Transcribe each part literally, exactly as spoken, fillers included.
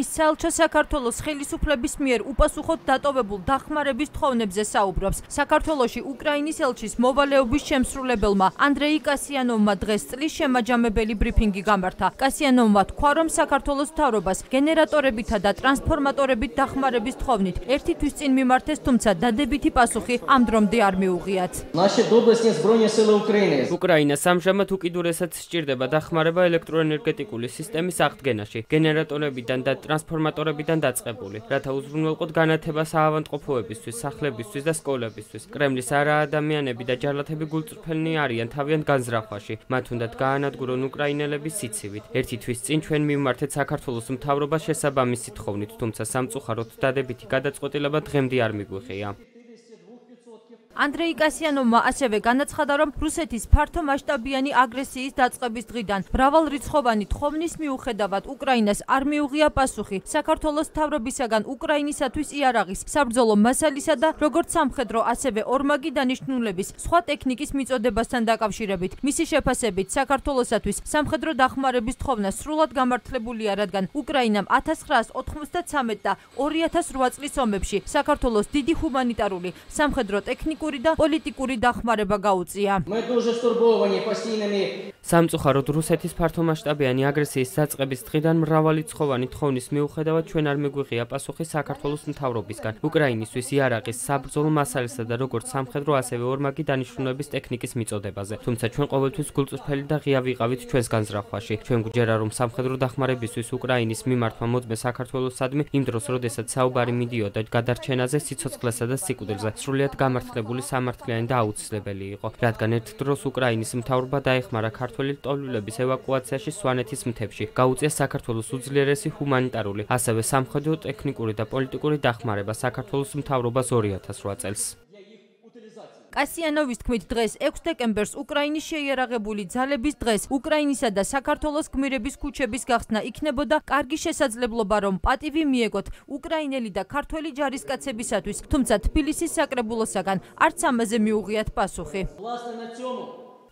საელჩო საქართველოს ხელისუფლების მიერ უპასუხოდ დატოვებულ დახმარების თხოვნებზე საუბრობს. საქართველოში უკრაინის ელჩის მოვალეობის შემსრულებელმა ანდრეი კასიანოვმა დღეს წლის შემაჯამებელი ბრიფინგი გამართა. კასიანოვმა თქვა, რომ საქართველოს მთავრობას გენერატორებითა და ტრანსფორმატორებით დახმარების თხოვნით ერთი თვის წინ მიმართეს, თუმცა დადებითი პასუხი ამ დრომდე არ მიუღიათ. უკრაინას ამჟამად უკიდურესად სჭირდება დახმარება ელექტროენერგეტიკული სისტემის აღდგენაში, გენერატორებიდან და ტრანსფორმატორებიდან დაწყებული, რათა უზრუნველყოთ განათება საავადმყოფოებისთვის, სახლებისთვის და სკოლებისთვის. კრემლის არაადამიანები და ჯარლათები გულწრფელნი არიან თავიანთ განზრახვაში. მათ უნდათ გაანადგურონ უკრაინელების სიცივით. ერთი თვის წინ ჩვენ მიმართეთ საქართველოს მთავრობას შესაბამისი თხოვნით, თუმცა სამწუხაროდ დადებითი გადაწყვეტილება დღემდე არ მიგვიღია. ანდრეი კასიანოვმა ასევე განაცხადა, რომ რუსეთის ფართომასშტაბიანი აგრესიის დაწყების დღიდან მრავალრიცხოვანი თხოვნის მიუხედავად უკრაინას არ მიუღია პასუხი საქართველოს მთავრობისაგან უკრაინისათვის იარაღის, საბრძოლო მასალისა და როგორც სამხედრო, ასევე ორმაგი დანიშნულების სხვა ტექნიკის მიწოდებასთან დაკავშირებით. მისი შეფასებით, საქართველოსათვის სამხედრო დახმარების თხოვნა სრულად გამართლებულია, რადგან უკრაინამ ათას ცხრაას ოთხმოცდათსამეტ და ორი ათას რვა წლის ომებში საქართველოს დიდი ჰუმანიტარული, სამხედრო ტექნიკური და პოლიტიკური დახმარება გაუწია. სამწუხაროდ რუსეთის ფართომასშტაბიანი აგრესიის დაწყების დღიდან მრავალრიცხოვანი თხოვნის მიუხედავად ჩვენ არ მიგვიღია პასუხი საქართველოს მთავრობისგან უკრაინისთვის იარაღის, საბრძოლო მასალისა და როგორც სამხედრო, ასევე ორმაგი დანიშნულების ტექნიკის მიწოდებაზე. თუმცა ჩვენ ყოველთვის გულწრფელი და ღია ვიყავით ჩვენს განზრახვაში. ჩვენ გვჯერა, რომ სამხედრო დახმარებისთვის უკრაინის მიმართვა მოწმე საქართველოსადმი იმ დროს, როდესაც საუბარი მიდიოდა გადარჩენაზე, სიცოცხლესა და სიკვდილზე, სრულიად გამართლებული სამართლიანი და აუცილებელი იყო, რადგან ერთ დროს უკრაინის მთავრობა დაეხმარა ქართველი ლტოლვილების ევაკუაციაში სვანეთის მთებში, გაუწია საქართველოს უძლიერესი ჰუმანიტარული, ასევე სამხედრო, ტექნიკური და პოლიტიკური დახმარება საქართველოს მთავრობას ორი ათას რვა წელს. კასიანოვის თქმით, დღეს ექვსი დეკემბერს უკრაინის შეიარაღებული ძალების დღეს უკრაინისა და საქართველოს გმირების ქუჩების გახსნა იქნებოდა კარგი შესაძლებლობა, რომ პატივი მიეგოთ უკრაინელი და ქართველი ჯარისკაცებისათვის, თუმცა თბილისის საკრებულოსაგან არც ამაზე მიუღიათ პასუხი.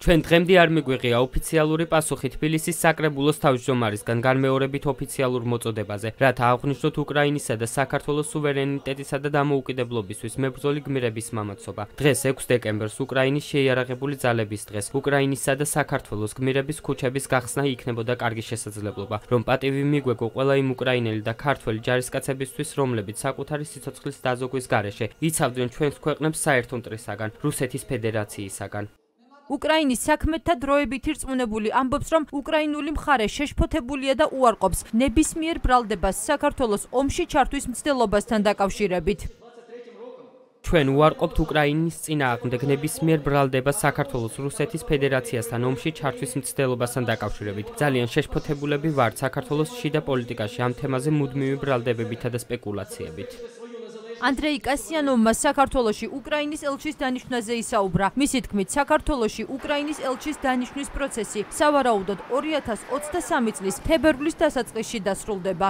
ჩვენ დღემდე არ მიგვიღია ოფიციალური პასუხი თბილისის საკრებულოს თავმჯდომარისგან განმეორებით ოფიციალურ მოწოდებაზე, რათა აღვნიშნოთ უკრაინისა და საქართველოს სუვერენიტეტისა და დამოუკიდებლობისთვის მებრძოლი გმირების მამაცობა. დღეს ექვსი დეკემბერს უკრაინის შეიარაღებული ძალების დღეს უკრაინისა და საქართველოს გმირების ქუჩების გახსნა იქნებოდა კარგი შესაძლებლობა, რომ პატივი მიგვეგო ყველა იმ უკრაინელი და ქართველი ჯარისკაცებისთვის, რომლებიც საკუთარი სიცოცხლის დაზოგვის გარეშე იცავდნენ ჩვენს ქვეყნებს საერთო მტრისაგან, რუსეთის ფედერაციისაგან. უკრაინის საქმეთა დროებით ირწმუნებული ამბობს, რომ უკრაინული მხარე შეშფოთებულია და უარყოფს ნებისმიერ ბრალდებას საქართველოს ომში ჩართვის მცდელობასთან დაკავშირებით. ჩვენ უარყოფთ უკრაინის წინააღმდეგ ნებისმიერ ბრალდებას საქართველოს რუსეთის ფედერაციასთან ომში ჩართვის მცდელობასთან დაკავშირებით. ძალიან შეშფოთებულები ვართ საქართველოს შიდა პოლიტიკაში ამ თემაზე მუდმივი ბრალდებებითა და სპეკულაციებით. ანდრეი კასიანოვმა საქართველოში უკრაინის ელჩის დანიშვნაზე ისაუბრა. მისი თქმით, საქართველოში უკრაინის ელჩის დანიშვნის პროცესი სავარაუდოდ ორი ათას ოცდასამი წლის თებერვლის დასაწყისში დასრულდება.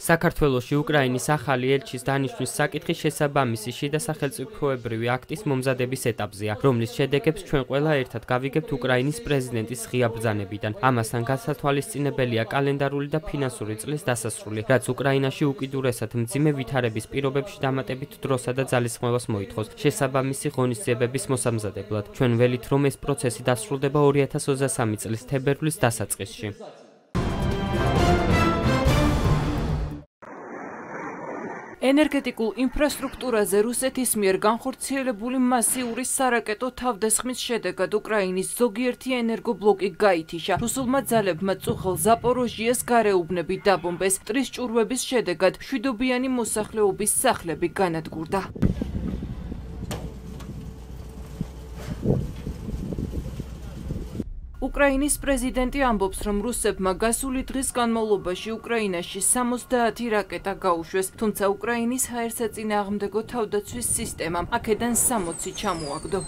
საქართველოში უკრაინის ახალი ელჩის დანიშვნის საკითხი შესაბამისი შიდა სახელმწიფოებრივი აქტის მომზადების ეტაპზეა, რომლის შედეგებს ჩვენ ყველა ერთად გავიგებთ უკრაინის პრეზიდენტის ღია ბრძანებიდან. ამასთან გასათვალისწინებელია კალენდარული და ფინანსური წლის დასასრული, რაც უკრაინაში უკიდურესად მძიმე ვითარების პირობებში დამატებით დროსა და ძალისხმევას მოითხოვს შესაბამისი ღონისძიებების მოსამზადებლად. ჩვენ ველით, რომ ეს პროცესი დასრულდება ორი ათას ოცდასამი წლის თებერვლის დასაწყისში. ენერგეტიკულ ინფრასტრუქტურაზე რუსეთის მიერ განხორციელებული მასიური სარაკეტო თავდასხმის შედეგად უკრაინის ზოგიერთი ენერგობლოკი გაითიშა. რუსულმა ძალებმა წუხელ ზაპოროჟიეს გარეუბნები დაბომბეს. ტრის ჭურვების შედეგად მშვიდობიანი მოსახლეობის სახლები განადგურდა. უკრაინის პრეზიდენტი ამბობს, რომ რუსებმა გასული დღის განმავლობაში უკრაინაში სამოცდაათი რაკეტა გაუშვეს, თუმცა უკრაინის ჰაერსაწინააღმდეგო თავდაცვის სისტემამ აქედან სამოცი ჩამოაგდო.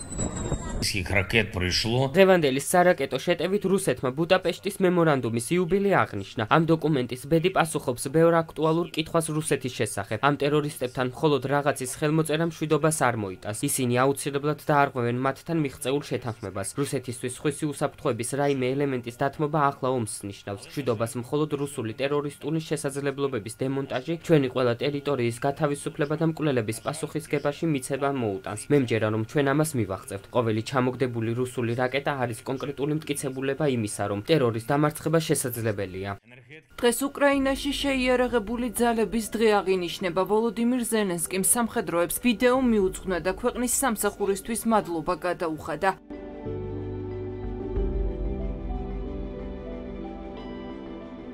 დღევანდელი სარაკეტო შეტევით რუსეთმა ბუდაპეშტის მემორანდუმის იუბილე აღნიშნა. ამ დოკუმენტის ბედი პასუხობს ბევრ აქტუალურ კითხვას რუსეთის შესახებ. ამ ტერორისტებთან მხოლოდ რაღაცის ხელმოწერა მშვიდობას არ მოიტანს. ისინი აუცილებლად დაარღვევენ მათთან მიღწეულ შეთანხმებას. რუსეთისთვის სხვისი უსაფრთხოების რაიმე ელემენტის დათმობა ახლა ომს ნიშნავს. მშვიდობას მხოლოდ რუსული ტერორისტული შესაძლებლობების დემონტაჟი, ჩვენი ყველა ტერიტორიის გათავისუფლება და მკვლელების პასუხისგებაში მიცემა მოუტანს. მე მჯერა რომ ჩვენ ამას მივახცევთ. ყოველი ჩამოგდებული რუსული რაკეტა არის კონკრეტული მტკიცებულება იმისა, რომ ტერორის დამარცხება შესაძლებელია. დღეს უკრაინაში შეიარაღებული ძალების დღე აღინიშნება. ვოლოდიმირ ზელენსკიმ სამხედროებს ვიდეო მიუძღვნა და ქვეყნის სამსახურისთვის მადლობა გადაუხადა.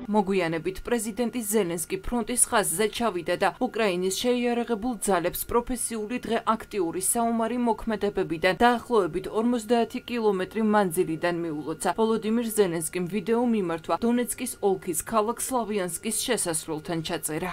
მოგვიანებით პრეზიდენტი ზელენსკი ფრონტის ხაზზე ჩავიდა და უკრაინის შეიარაღებულ ძალებს პროფესიული დღე აქტიური საომარი მოქმედებებიდან დაახლოებით ორმოცდაათი კილომეტრი მანძილიდან მიულოცა. ვოლოდიმირ ზელენსკიმ ვიდეო მიმართვა დონეცკის ოლქის ქალაქ სლავიანსკის შესასვლელთან ჩაწერა.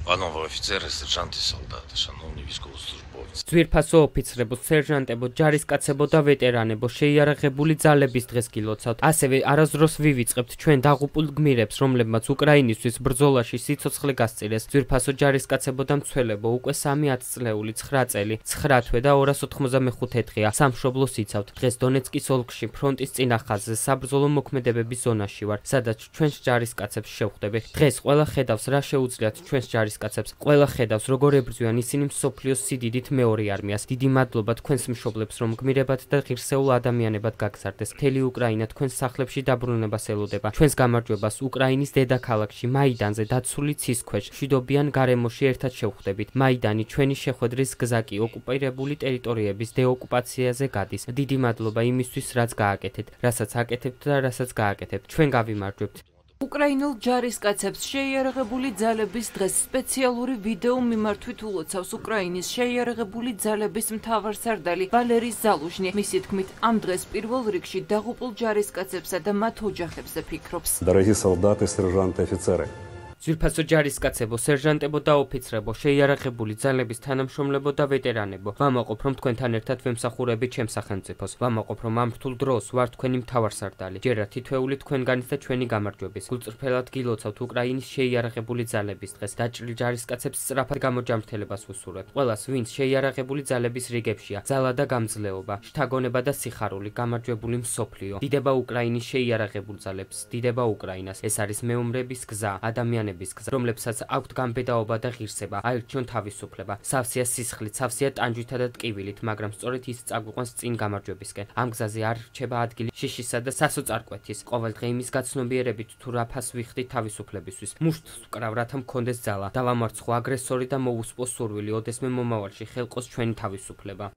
Панове офіцери, сержанти, солдати, шановні військовослужбовці. ძვირფასო ოფიცრებო, სერჟანტებო, ჯარისკაცებო და ვეტერანებო, შეიარაღებული ძალების დღეს გილოცავთ. ასევე არასდროს ვივიწყებთ ჩვენ დაღუპულ გმირებს, რომლებმაც უკრაინისთვის ბრძოლაში სიცოცხლე გასწირეს. ძვირფასო ჯარისკაცებო და მცველებო, უკვე სამი ათწლეული, ცხრა წელი, ცხრა თვე და ორას ოთხმოცდამეხუთე დღეა სამშობლოს იცავთ. დღეს დონეცკის ოლქში ფრონტის წინა ხაზზე საბრძოლო მოქმედებების ზონაში ვარ, სადაც ჩვენს ჯარისკაცებს შევხვდები. დღეს ყველა ხედავს რა შეუძლიათ ჩვენს ჯარისკაცებს. ყველა ხედავს როგორ ებრძვიან ისინი მსოფლიოს სიდიდით მეორე არმიას. დიდი მადლობა თქვენს მშობლებს, რომ გმირებად და ღირსეულ ადამიანებად გაგზარდეს. მთელი უკრაინა თქვენს სახლებში დაბრუნებას ელოდება. ჩვენს გამარჯვებას უკრაინის დედაქალაქში მაიდანზე დაცული ცის ქვეშ მშვიდობიან გარემოში ერთად შევხვდებით. მაიდანი ჩვენი შეხვედრის გზა კი ოკუპირებული ტერიტორიების დეოკუპაციაზე გადის. დიდი მადლობა იმისთვის, რაც გააკეთეთ, რასაც აკეთებთ და რასაც გააკეთებთ. ჩვენ გავიმარჯვებთ. უკრაინულ ჯარისკაცებს შეიარაღებული ძალების დღეს სპეციალური ვიდეო მიმართვით ულოცავს უკრაინის შეიარაღებული ძალების მთავარსარდალი ვალერი ზალუჟნი. მისი თქმით, ამ დღეს პირველ რიგში დაღუპულ ჯარისკაცებსა და მათ ოჯახებზე ფიქრობს. Дорогі солдати, сержанти, офіцери. ძვირფასო ჯარისკაცებო, სერჟანტებო და ოფიცრებო, შეიარაღებული ძალების თანამშრომლებო და ვეტერანებო, ვამაყობ რომ თქვენთან ერთად ვემსახურებით ჩემს სახელმწიფოს. ვამაყობ რომ ამ რთულ დროს ვარ თქვენი მთავარსარდალი. ჯერა თითოეული თქვენგანის და ჩვენი გამარჯვების. გულწრფელად გილოცავთ უკრაინის შეიარაღებული ძალების დღეს. დაჭრილ ჯარისკაცებს სწრაფად გამოჯამრთელებას ვუსურვებ. ყველას, ვინც შეიარაღებული ძალების რიგებშია, ძალა და გამძლეობა, შთაგონება და სიხარული, გამარჯვებული მსოფლიო. დიდება უკრაინის შეიარაღებულ ძალებს, დიდება უკრაინას. ეს არის მეომრების გზა, ადამიანების გზა, რომლებსაც აქვთ გამბედაობა და ღირსება, აირჩიონ თავისუფლება, სავსეა სისხლით, სავსეა ტანჯვითა და ტკივილით, მაგრამ სწორედ ის წაგვიყვანს წინ გამარჯვებისკენ. ამ გზაზე არ რჩება ადგილი შიშისა და სასოწარკვეთის. ყოველდღე იმის გაცნობიერებით თუ რა ფას ვიხდით თავისუფლებისთვის. მუშტს ვკრავ, რათა მქონდეს ძალა, დავამარცხო აგრესორი და მოვუსპო სურვილი, ოდესმე მომავალში ხელყოს ჩვენი თავისუფლება.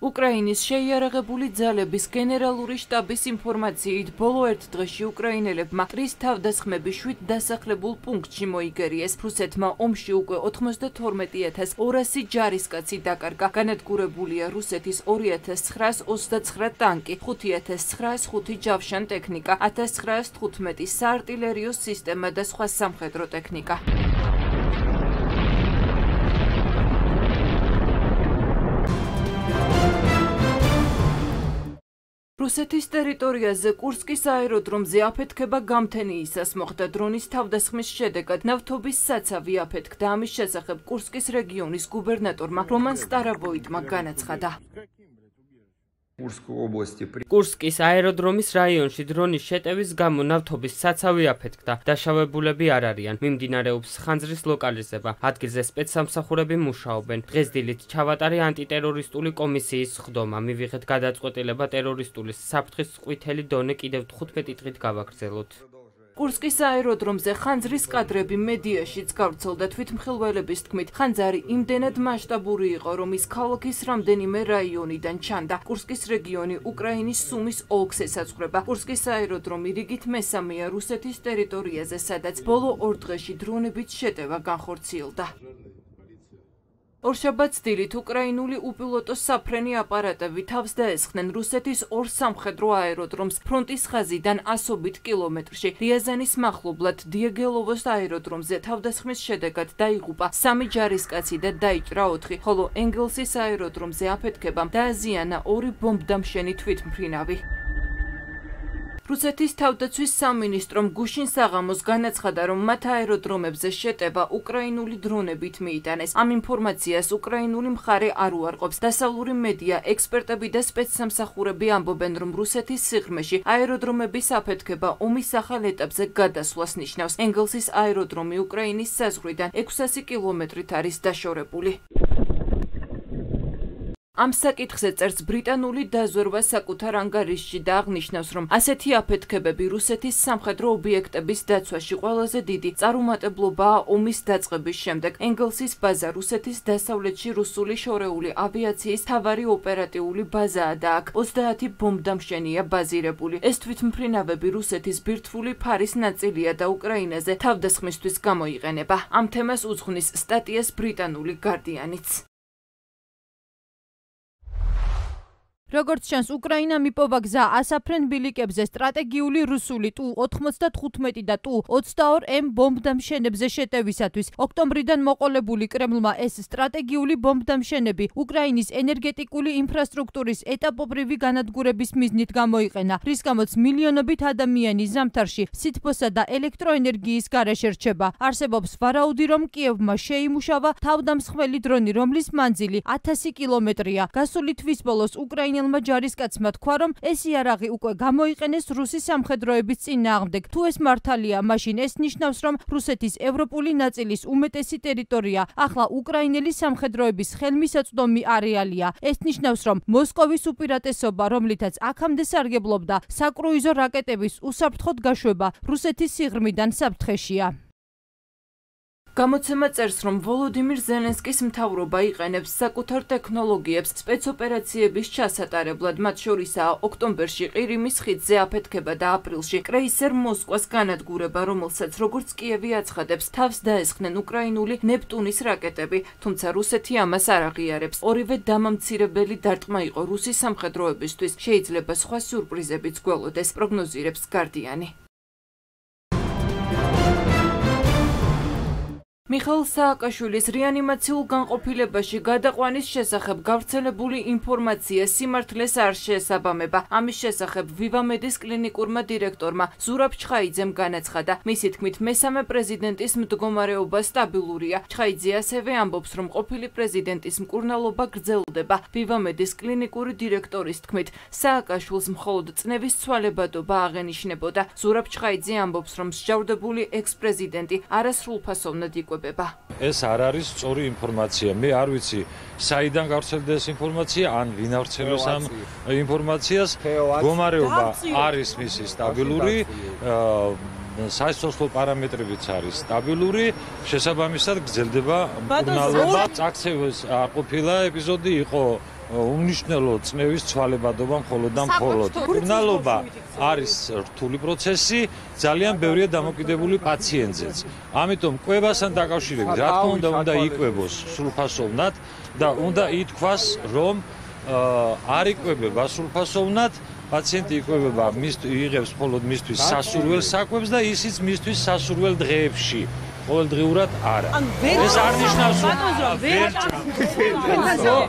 უკრაინის შეიარაღებული ძალების გენერალური შტაბის ინფორმაციით, ბოლო ერთ დღეში უკრაინელებმა ტრის თავდასხმები შვიდ დასახლებულ პუნქტში მოიგერიეს. რუსეთმა ომში უკვე ოთხმოცდათორმეტი ათას ორასი ჯარისკაცი დაკარგა. განადგურებულია რუსეთის ორი ათას ცხრაას ოცდაცხრა ტანკი, ხუთი ათას ცხრაას ხუთი ჯავშან ტექნიკა, ათას ცხრაას თხუთმეტი საარტილერიო სისტემა და სხვა სამხედრო ტექნიკა. რუსეთის ტერიტორიაზე კურსკის აეროდრომზე აფეთქება გამთენიისას მოხდა. დრონის თავდასხმის შედეგად ნავთობის საცავი აფეთქდა. ამის შესახებ კურსკის რეგიონის გუბერნატორმა რომან სტარაბოიტმა განაცხადა. კურსკის აეროდრომის რაიონში დრონის შეტევის გამო ნავთობის საცავი აფეთქდა. დაშავებულები არ არიან. მიმდინარეობს ხანძრის ლოკალიზება. ადგილზე სპეცსამსახურები მუშაობენ. დღეს დილით ჩავატარე ანტიტერორისტული კომისიის სხდომა. მივიღეთ გადაწყვეტილება ტერორისტული საფრთხის ყვითელი დონე კიდევ თხუთმეტი დღით გავაგრძელოთ. კურსკის აეროდრომზე ხანძრის კადრები მედიაშიც გავრცელდა. თვითმხილველების თქმით, ხანძარი იმდენად მასშტაბური იყო, რომ ის ქალაქის რამდენიმე რაიონიდან ჩანდა. კურსკის რეგიონი უკრაინის სუმის ოლქს ესაზღვრება. კურსკის აეროდრომი რიგით მესამეა რუსეთის ტერიტორიაზე, სადაც ბოლო ორ დღეში დრონებით შეტევა განხორციელდა. ორშაბათს დილით უკრაინული უპილოტო საფრენი აპარატები თავს დაესხნენ რუსეთის ორ სამხედრო აეროდრომს ფრონტის ხაზიდან ასობით კილომეტრში. რიაზანის მახლობლად დიეგელოვოს აეროდრომზე თავდასხმის შედეგად დაიღუპა სამი ჯარისკაცი და დაიჭრა ოთხი, ხოლო ენგელსის აეროდრომზე აფეთქებამ დააზიანა ორი ბომბდამშენი თვითმფრინავი. რუსეთის თავდაცვის სამინისტრომ გუშინ საღამოს განაცხადა, რომ მათ აეროდრომებზე შეტევა უკრაინული დრონებით მიიტანეს. ამ ინფორმაციას უკრაინული მხარე არ უარყოფს. დასავლური მედია, ექსპერტები და სპეცსამსახურები ამბობენ, რომ რუსეთის სიღრმეში აეროდრომების აფეთქება ომის ახალ ეტაპზე გადასვლას ნიშნავს. ენგელსის აეროდრომი უკრაინის საზღვრიდან ექვსასი კილომეტრით არის დაშორებული. ამ საკითხზე წერს ბრიტანული დაზვერვა საკუთარ ანგარიშში და აღნიშნავს, რომ ასეთი აფეთქებები რუსეთის სამხედრო ობიექტების დაცვაში ყველაზე დიდი წარუმატებლობაა ომის დაწყების შემდეგ. ენგელსის ბაზა რუსეთის დასავლეთში რუსული შორეული ავიაციის მთავარი ოპერატიული ბაზაა და აქ ოცდაათი ბომბდამშენია ბაზირებული. ეს თვითმფრინავები რუსეთის ბირთვული ფარის ნაწილია და უკრაინაზე თავდასხმისთვის გამოიყენება. ამ თემას უძღვნის სტატიას ბრიტანული გარდიანიც. როგორც ჩანს, უკრაინა მიპოვა გზა ასაფრენ ბილიკებზე სტრატეგიული რუსული ტუ ოთხმოცდათხუთმეტი და ტუ ოცდაორი ემ ბომბდამშენებზე შეტევისათვის. ოქტომბრიდან მოყოლებული კრემლმა ეს სტრატეგიული ბომბდამშენები უკრაინის ენერგეტიკული ინფრასტრუქტურის ეტაპობრივი განადგურების მიზნით გამოიყენა, რის გამოც მილიონობით ადამიანი ზამთარში სითბოსა და ელექტროენერგიის გარეშე რჩება. არსებობს ვარაუდი, რომ კიევმა შეიმუშავა თავდამსხმელი დრონი, რომლის მანძილი ათასი კილომეტრია. გასული თვის ბოლოს უკრაინა ჯარისკაცმა თქვა, რომ ეს იარაღი უკვე გამოიყენეს რუსის სამხედროების წინააღმდეგ. თუ ეს მართალია, მაშინ ეს ნიშნავს, რომ რუსეთის ევროპული ნაწილის უმეტესი ტერიტორია ახლა უკრაინელი სამხედროების ხელმისაწვდომი არეალია. ეს ნიშნავს, რომ მოსკოვის უპირატესობა, რომლითაც აქამდე სარგებლობდა საკრუიზო რაკეტების უსაფრთხოდ გაშვება რუსეთის სიღრმიდან საფრთხეშია. გამოცემა წერს, რომ ვოლოდიმირ ზელენსკის მთავრობა იყენებს საკუთარ ტექნოლოგიებს სპეცოპერაციების ჩასატარებლად, მათ შორისაა ოქტომბერში ყირიმის ხიდზე აფეთქება და აპრილში კრეისერ მოსკვას განადგურება, რომელსაც როგორც კიევი აცხადებს, თავს დაესხნენ უკრაინული ნეპტუნის რაკეტები, თუმცა რუსეთი ამას არ აღიარებს. ორივე დამამცირებელი დარტყმა იყო რუსის სამხედროებისთვის, შეიძლება სხვა სიურპრიზებიც გველოდეს, პროგნოზირებს გარდიანი. მიხეილ სააკაშვილის რეანიმაციულ განყოფილებაში გადაყვანის შესახებ გავრცელებული ინფორმაცია სიმართლეს არ შეესაბამება. ამის შესახებ ვივამედის კლინიკურმა დირექტორმა ზურაბ ჩხაიძემ განაცხადა. მისი თქმით, მესამე პრეზიდენტის მდგომარეობა სტაბილურია. ჩხაიძე ასევე ამბობს, რომ ყოფილი პრეზიდენტის მკურნალობა გრძელდება. ვივამედის კლინიკური დირექტორის თქმით, სააკაშვილს მხოლოდ წნევის ცვალებადობა აღენიშნებოდა. ზურაბ ჩხაიძე ამბობს, რომ მსჯავრდებული ექს-პრეზიდენტი არასრულფასოვნად იკვებება. ეს არ არის სწორი ინფორმაცია. მე არ ვიცი, საიდან გავრცელდა ეს ინფორმაცია, ან ვინ ავრცელებს ამ ინფორმაციას. მდგომარეობა არის მისი სტაბილური, საერთო პარამეტრებიც არის სტაბილური, შესაბამისად გრძელდება მკურნალობა. წაქცევის არ ყოფილა ეპიზოდი, იყო უმნიშვნელო წნევის ცვალებადობა მხოლოდ და მხოლოდ. მკურნალობა არის რთული პროცესი, ძალიან ბევრია დამოკიდებული პაციენტზეც. ამიტომ კვებასთან დაკავშირებით, რა თქმა უნდა, უნდა იკვებოს სრულფასოვნად და უნდა ითქვას, რომ არ იკვებება სრულფასოვნად, პაციენტი იკვებება, იღებს მხოლოდ მისთვის სასურველ საკვებს და ისიც მისთვის სასურველ დღეებში. ყოველდღიურად არა. ეს არ ნიშნავს, რომ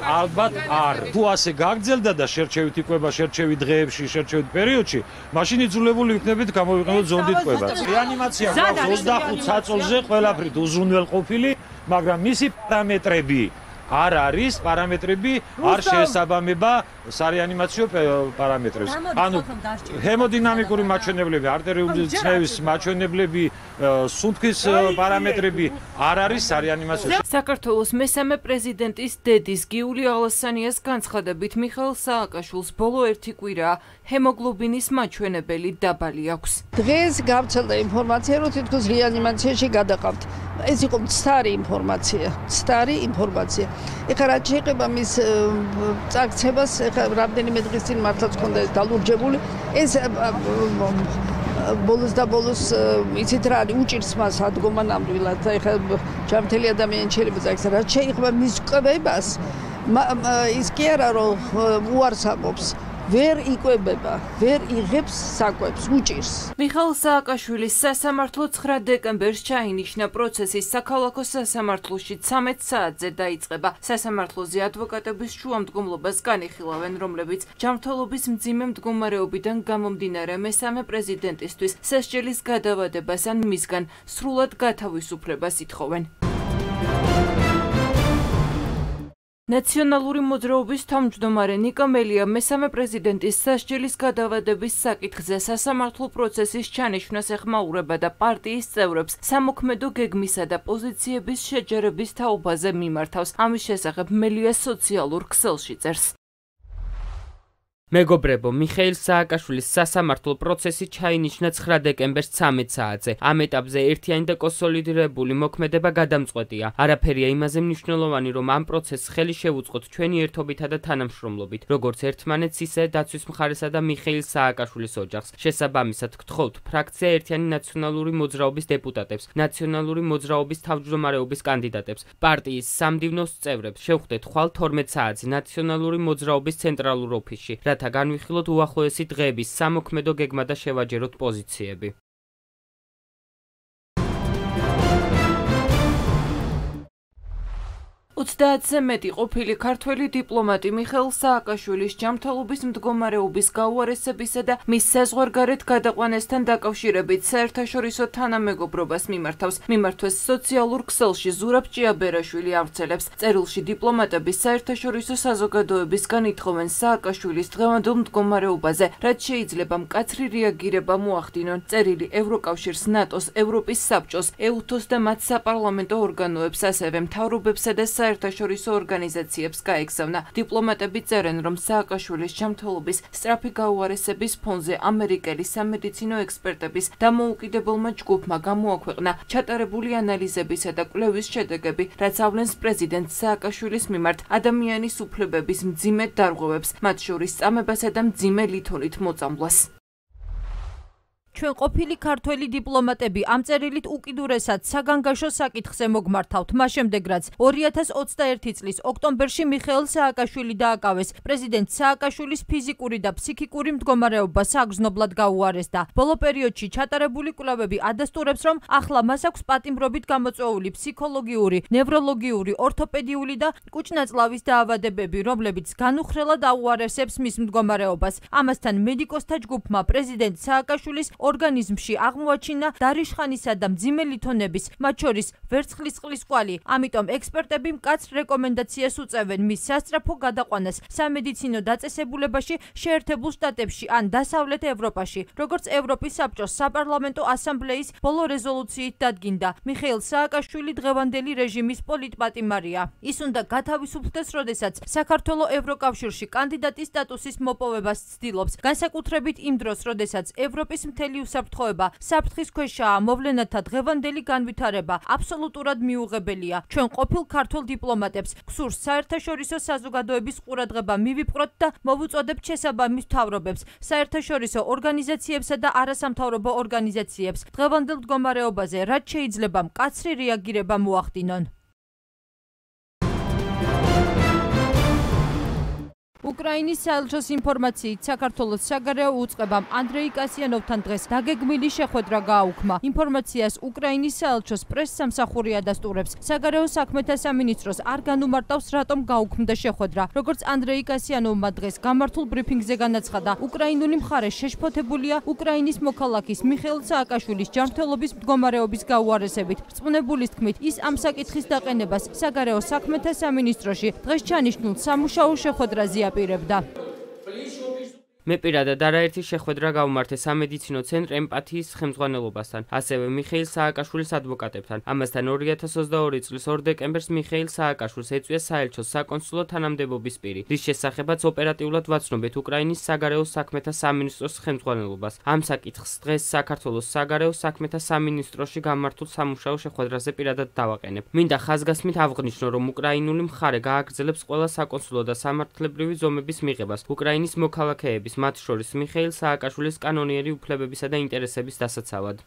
ალბათ არ. თუ ასე გაგრძელდა და შერჩევით იკვება შერჩევით დღეებში, შერჩევით პერიოდში, მაშინ იძულებული იქნებით გამოვიყენოთ ზონდით კვებას. რეანიმაცია გვაქვს ოცდახუთ საწოლზე ყველაფრით უზრუნველყოფილი, მაგრამ მისი პარამეტრები არ არის, პარამეტრები არ შეესაბამება სარეანიმაციო პარამეტრებს. ანუ ჰემოდინამიკური მაჩვენებლები, არტერიული წნევის მაჩვენებლები, სუნთქვის პარამეტრები არ არის სარეანიმაციო. საქართველოს მესამე პრეზიდენტის დედის გიული ალასანიას განცხადებით, მიხეილ სააკაშვილს ბოლო ერთი კვირაა ჰემოგლობინის მაჩვენებელი დაბალი აქვს. დღეს გავრცელდა ინფორმაცია, რომ თითქოს რეანიმაციაში გადაყავთ. ეს იყო მცდარი ინფორმაცია, მცდარი ინფორმაცია. ეხლა რაც შეეხება მის წაქცევას, ეხლა რამდენიმე დღის წინ მართლაც ქონდა ეს დალურჯებული, ეს ბოლოს და ბოლოს იცით რა არის უჭირს მას ადგომა ნამდვილად ეხლა ჯანმრთელი ადამიანი შეიძლება წაიქცა რაც შეეხება მის კვებას ის კი არა რომ უარს ამბობს ვერ იკვებება, ვერ იღებს საკვებს, უჭირს. მიხეილ სააკაშვილის სასამართლო ცხრა დეკემბერს ჩაინიშნა პროცესის საქალაქო სასამართლოში ცამეტ საათზე დაიწყება. სასამართლოზე ადვოკატების შუამდგომლობას განიხილავენ, რომლებიც ჯანმრთელობის მძიმე მდგომარეობიდან გამომდინარე მესამე პრეზიდენტისთვის სასჯელის გადავადებას ან მისგან სრულად გათავისუფლებას ითხოვენ. ნაციონალური მოძრაობის თავმჯდომარე ნიკო მელია მესამე პრეზიდენტის სასჯელის გადავადების საკითხზე სასამართლო პროცესის ჩანიშვნას ეხმაურება და პარტიის წევრებს სამოქმედო გეგმისა და პოზიციების შეჯერების თაობაზე მიმართავს. ამის შესახებ მელია სოციალურ ქსელში წერს. მეგობრებო, მიხეილ სააკაშვილის სასამართლო პროცესი ჩაინიშნა ცხრა დეკემბერს ცამეტ საათზე. ამ ეტაპზე ერთიანი და კონსოლიდირებული მოქმედება გადამწყვეტია. არაფერია იმაზე მნიშვნელოვანი, რომ ამ პროცესს ხელი შევუწყოთ ჩვენი ერთობითა და თანამშრომლობით, როგორც ერთმანეთს, ისე დაცვის მხარესა და მიხეილ სააკაშვილის ოჯახს. შესაბამისად, გთხოვთ ფრაქცია ერთიანი ნაციონალური მოძრაობის დეპუტატებს, ნაციონალური მოძრაობის თავმჯდომარეობის კანდიდატებს, პარტიის სამდივნოს წევრებს, შევხვდეთ ხვალ თორმეტ საათზე ნაციონალური მოძრაობის ცენტრალურ ოფისში. განვიხილოთ უახლოესი დღეების სამოქმედო გეგმა და შევაჯეროთ პოზიციები. ოცდაათზე მეტი ყოფილი ქართველი დიპლომატი მიხეილ სააკაშვილის ჯანმრთელობის მდგომარეობის გაუარესებისა და მის საზღვარგარეთ გადაყვანასთან დაკავშირებით საერთაშორისო თანამეგობრობას მიმართავს. მიმართვეს სოციალურ ქსელში ზურაბ ჭიაბერაშვილი ავრცელებს. წერილში დიპლომატები საერთაშორისო საზოგადოებისგან ითხოვენ სააკაშვილის დღევანდელ მდგომარეობაზე, რაც შეიძლება მკაცრი რეაგირება მოახდინონ. წერილი ევროკავშირს, ნატოს, ევროპის საბჭოს, ეუთოს და მათ საპარლამენტო ორგანოებს, ასევე მთავრობებსა და საერთაშორისო ორგანიზაციებს გაეგზავნა. დიპლომატები წერენ, რომ სააკაშვილის ჯანმრთელობის სწრაფი გაუარესების ფონზე ამერიკელი სამედიცინო ექსპერტების დამოუკიდებელმა ჯგუფმა გამოაქვეყნა ჩატარებული ანალიზებისა და კვლევის შედეგები, რაც ავლენს პრეზიდენტ სააკაშვილის მიმართ ადამიანის უფლებების მძიმე დარღვევებს, მათ შორის წამებასა და მძიმე ლითონით მოწამვლას. ჩვენ ყოფილი ქართველი დიპლომატები ამ წერილით უკიდურესად საგანგაშო საკითხზე მოგმართავთ. მას შემდეგ, რაც ორი ათას ოცდაერთი წლის ოქტომბერში მიხეილ სააკაშვილი დააკავეს, პრეზიდენტ სააკაშვილის ფიზიკური და ფსიქიკური მდგომარეობა საგრძნობლად გაუარესდა. ბოლო პერიოდში ჩატარებული კვლევები ადასტურებს, რომ ახლა მას აქვს პატიმრობით გამოწვეული ფსიქოლოგიური, ნევროლოგიური, ორთოპედიული და კუჭნაწლავის დაავადებები, რომლებიც განუხრელად აუარესებს მის მდგომარეობას. ამასთან მედიკოსთა ჯგუფმა პრეზიდენტ სააკაშვილის ორგანიზმში აღმოაჩინა დარიშხანისა და მძიმე ლითონების, მათ შორის ვერცხლის წყლის კვალი. ამიტომ ექსპერტები მკაცრ რეკომენდაციას უწევენ მის სასწრაფო გადაყვანას სამედიცინო დაწესებულებაში შეერთებულ შტატებში ან დასავლეთ ევროპაში. როგორც ევროპის საბჭოს საპარლამენტო ასამბლეის ბოლო რეზოლუციით დადგინდა, მიხეილ სააკაშვილი დღევანდელი რეჟიმის პოლიტპატიმარია. ის უნდა გათავისუფლდეს, როდესაც საქართველოს ევროკავშირში კანდიდატის სტატუსის მოპოვებას ცდილობს, განსაკუთრებით იმ დროს, როდესაც ევროპის მთელი უსაფრთხოება საფრთხის ქვეშაა. მოვლენათა დღევანდელი განვითარება აბსოლუტურად მიუღებელია. ჩვენ ყოფილ ქართულ დიპლომატებს გსურს საერთაშორისო საზოგადოების ყურადღება მივიპყროთ და მოვუწოდებთ შესაბამის მთავრობებს, საერთაშორისო ორგანიზაციებსა და არასამთავრობო ორგანიზაციებს დღევანდელ მდგომარეობაზე, რაც შეიძლება მკაცრი რეაგირება მოახდინონ. უკრაინის საელჩოს ინფორმაციით საქართველოს საგარეო უწყებამ ანდრეი კასიანოვთან დღეს დაგეგმილი შეხვედრა გააუქმა. ინფორმაციას უკრაინის საელჩოს პრესსამსახური ადასტურებს. საგარეო საქმეთა სამინისტროს არ განუმარტავს, რატომ გაუქმდა შეხვედრა. როგორც ანდრეი კასიანოვმა დღეს გამართულ ბრიფინგზე განაცხადა, უკრაინული მხარე შეშფოთებულია უკრაინის მოქალაქის მიხეილ სააკაშვილის ჯანმრთელობის მდგომარეობის გაუარესებით. რწმუნებულის თქმით, ის ამ საკითხის დაყენებას საგარეო საქმეთა სამინისტროში დღეს ჩანიშნულ სამუშაო შეხვედრაზე პირებდა. მე პირადად არაერთი შეხვედრა გავმართე სამედიცინო ცენტრ ემპათიის ხელმძღვანელობასთან, ასევე მიხეილ სააკაშვილის ადვოკატებთან. ამასთან ორი ათას ოცდაორი წლის ორ დეკემბერს მიხეილ სააკაშვილს ეწვია საელჩოს საკონსულო თანამდებობის პირი, რის შესახებაც ოპერატიულად ვაცნობეთ უკრაინის საგარეო საქმეთა სამინისტროს ხელმძღვანელობას. ამ საკითხს დღეს საქართველოს საგარეო საქმეთა სამინისტროში გამართულ სამუშაო შეხვედრაზე პირადად დავაყენებ. მინდა ხაზგასმით ავღნიშნო, რომ უკრაინული მხარე გააგრძელებს ყველა საკონსულო და სამართლებრივი ზომების მიღებას უკრაინის მოქალაქეების მოხმარების, მათ შორის მიხეილ სააკაშვილის კანონიერი უფლებებისა და ინტერესების დასაცავად.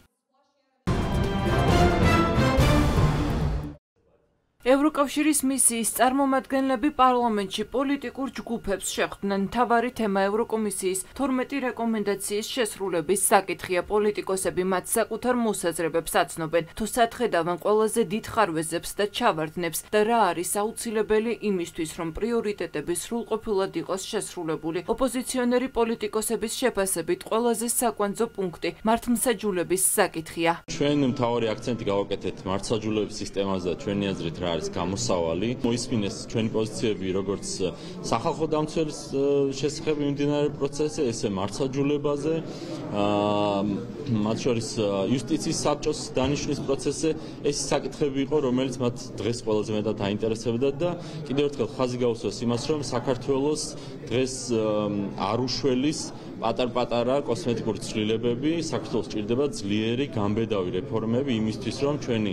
ევროკავშირის მისიის წარმომადგენლები პარლამენტში პოლიტიკურ ჯგუფებს შეხვდნენ. მთავარი თემა ევროკომისიის თორმეტი რეკომენდაციის შესრულების საკითხია. პოლიტიკოსები მათ საკუთარ მოსაზრებებს აცნობენ, თუ სათხედავენ ყველაზე დიდ ხარვეზებს და ჩავარდნებს და რა არის აუცილებელი იმისთვის, რომ პრიორიტეტები სრულყოფილად იყოს შესრულებული. ოპოზიციონერი პოლიტიკოსების შეფასებით ყველაზე საკვანძო პუნქტი მართლმსაჯულების საკითხია. ჩვენ მთავარი აქცენტი გავაკეთეთ მართლმსაჯულების სისტემაზე და ჩვენი აზრით რა არის გამოსავალი. მოისმინეს ჩვენი პოზიციები როგორც სახალხო დამცველის შესახებ მიმდინარე პროცესზე, ესე მართლმსაჯულებაზე, მათ შორის იუსტიციის საბჭოს დანიშვნის პროცესზე. ეს საკითხები იყო, რომელიც მათ დღეს ყველაზე მეტად აინტერესებდა და კიდევ ერთხელ ხაზი გაუსვას იმას, რომ საქართველოს დღეს არ უშველის პატარ-პატარა კოსმეტიკური ცვლილებები, საქართველოს ჭირდება ძლიერი გამბედავი რეფორმები იმისთვის, რომ ჩვენი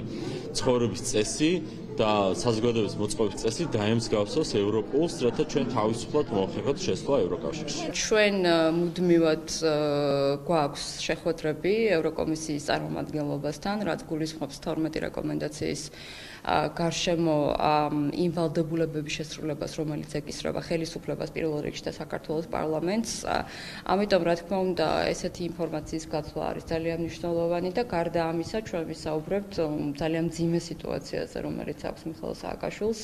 ცხოვრების წესი და საზოგადოების მოწყობის წესი დაემსგავსოს ევროპულს, რათა ჩვენ თავისუფლად მოახერხოთ შესვლა ევროკავშირში. ჩვენ მუდმივად გვაქვს შეხვედრები ევროკომისიის წარმომადგენლობასთან, რაც გულისხმობს თორმეტი რეკომენდაციის გარშემო იმ ვალდებულებების შესრულებას, რომელიც ეკისრება ხელისუფლებას პირველ რიგში და საქართველოს პარლამენტს. ამიტომ, რა თქმა უნდა, ესეთი ინფორმაციის გაცვლა არის ძალიან მნიშვნელოვანი და გარდა ამისა, ჩვენ ვისაუბრებთ ძალიან მძიმე სიტუაციაზე, რომელიც აქვს მიხეილ სააკაშვილს.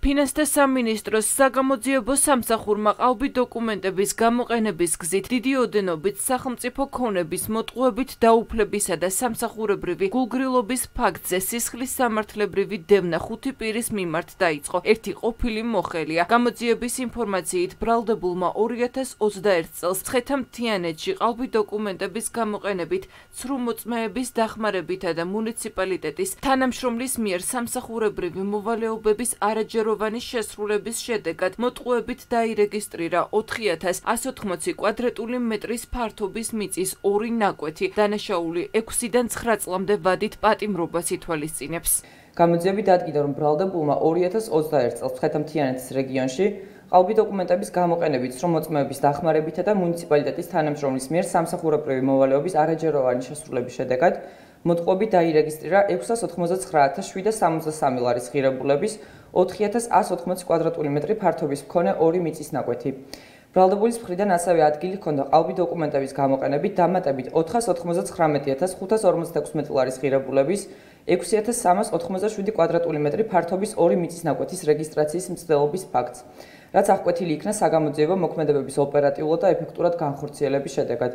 ფინანსთა სამინისტროს საგამოძიებო სამსახურმა ყალბი დოკუმენტების გამოყენების გზით დიდი ოდენობით სახელმწიფო ქონების მოტყუებით დაუფლებისა და სამსახურებრივი გულგრილობის ფაქტზე სისხლის სამართლებრივი დევნა ხუთი პირის მიმართ დაიწყო. ერთი ყოფილი მოხელია. გამოძიების ინფორმაციით ბრალდებულმა ორი ათას ოცდაერთ წელს მცხეთა-მთიანეთში ყალბი დოკუმენტების გამოყენებით ცრუ-მოწმეების დახმარებითა და მუნიციპალიტეტის თანამშრომლის მიერ სამსახურებრივი მოვალეობების არაჯერო შესრულების შედეგად მოტყუებით დაირეგისტრირა ოთხი ათას ასი ოთხმოცი კვადრატული მეტრის ფართობის მიწის ორი ნაკვეთი. დანაშაული ექვსიდან ცხრა წლამდე ვადით პატიმრობას ითვალისწინებს. გამოძიები დადგინდა, რომ ბრალდებულმა ორი ათას ოცდაერთ წელს მცხეთა-მთიანეთის რეგიონში ყალბი დოკუმენტების გამოყენებით ცრუ-მოწმეების დახმარებითა და მუნიციპალიტეტის თანამშრომლის მიერ სამსახურებრივი მოვალეობის არაჯეროვანი შესრულების შედეგად მოტყუებით დაირეგისტრირა ექვსას ოთხმოცდაცხრა ათას შვიდსათ სამოცდასამი ლარის ღირებულების ოთხი ათას ასი ოთხმოცი კვადრატული მეტრი ფართობის მქონე ორი მიწის ნაკვეთი. ბრალდებულის მხრიდან ასევე ადგილი ჰქონდა ყალბი დოკუმენტების გამოყენებით დამატებით ოთხას ოთხმოცდაცხრამეტი ათას ხუთას ორმოცდაექვსმეტი ლარის ღირებულების ექვსი ათას სამას ოთხმოცდაშვიდი კვადრატული მეტრი ფართობის ორი მიწის ნაკვეთის რეგისტრაციის მცდელობის ფაქტს, რაც აღკვეთილი იქნა საგამოძიებო მოქმედებების ოპერატიულად და ეფექტურად განხორციელების შედეგად.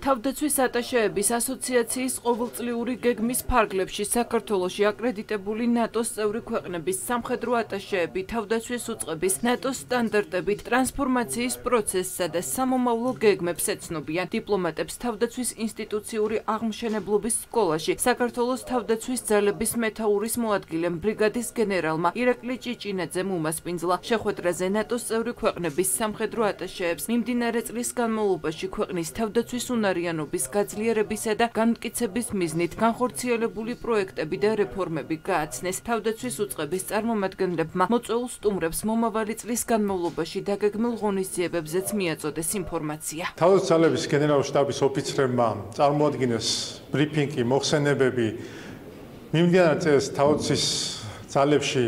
თავდაცვის ატაშეების ასოციაციის ყოველწლიური გეგმის ფარგლებში საქართველოში აკრედიტებული ნატოს წევრი ქვეყნების სამხედრო ატაშეები თავდაცვის უწყების ნატოს სტანდარტებით ტრანსფორმაციის პროცესსა და სამომავლო გეგმებს ეცნობიან. დიპლომატებს თავდაცვის ინსტიტუციური აღმშენებლობის სკოლაში საქართველოს თავდაცვის ძალების მეთაურის მოადგილემ ბრიგადის გენერალმა ირაკლი ჭიჭინაძემ უმასპინძლა. შეხვედრაზე ნატოს წევრი ქვეყნების სამხედრო ატაშეებს მიმდინარე წლის განმავლობაში ქვეყნის თავდაცვის უნარი იანობის გაძლიერებისა და განმტკიცების მიზნით განხორციელებული პროექტები და რეფორმები გააცნეს. თავდაცვის უწყების წარმომადგენლებმა მოწვეულ სტუმრებს მომავალი წლის განმავლობაში დაგეგმილ ღონისძიებებზეც მიაწოდეს ინფორმაცია. თავდაცვის ძალების გენერალური შტაბის ოფიცრებმა წარმოადგინეს ბრიფინგი, მოხსენებები მიმდინარე წელს თავდაცვის ძალებში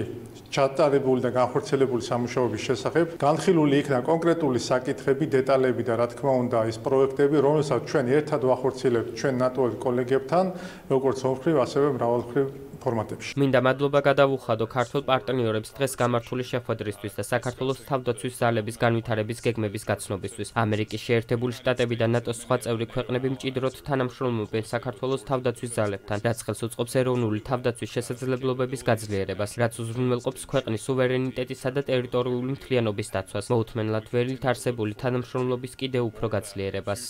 ჩატარებული და განხორციელებული სამუშაოების შესახებ. განხილული იქნა კონკრეტული საკითხები, დეტალები და რა თქმა უნდა ის პროექტები, რომელსაც ჩვენ ერთად ვახორციელებთ ჩვენ ნატოს კოლეგებთან, როგორც ორმხრივ, ასევე მრავალმხრივ ფორმატებში. მინდა მადლობა გადავუხადო ქართულ პარტნიორებს დღეს გამართული შეხვედრისთვის და საქართველოს თავდაცვის ძალების განვითარების გეგმების გაცნობისთვის. ამერიკის შეერთებული შტატები და ნატოს სხვა წევრი ქვეყნები მჭიდროდ თანამშრომლობენ საქართველოს თავდაცვის ძალებთან, რაც ხელს უწყობს ეროვნული თავდაცვის შესაძლებლობების გაძლიერებას, რაც უზრუნველყოფს ქვეყნის სუვერენიტეტისა და ტერიტორიული მთლიანობის დაცვას, მოუთმენლად ველით არსებული თანამშრომლობის კიდევ უფრო გაძლიერებას.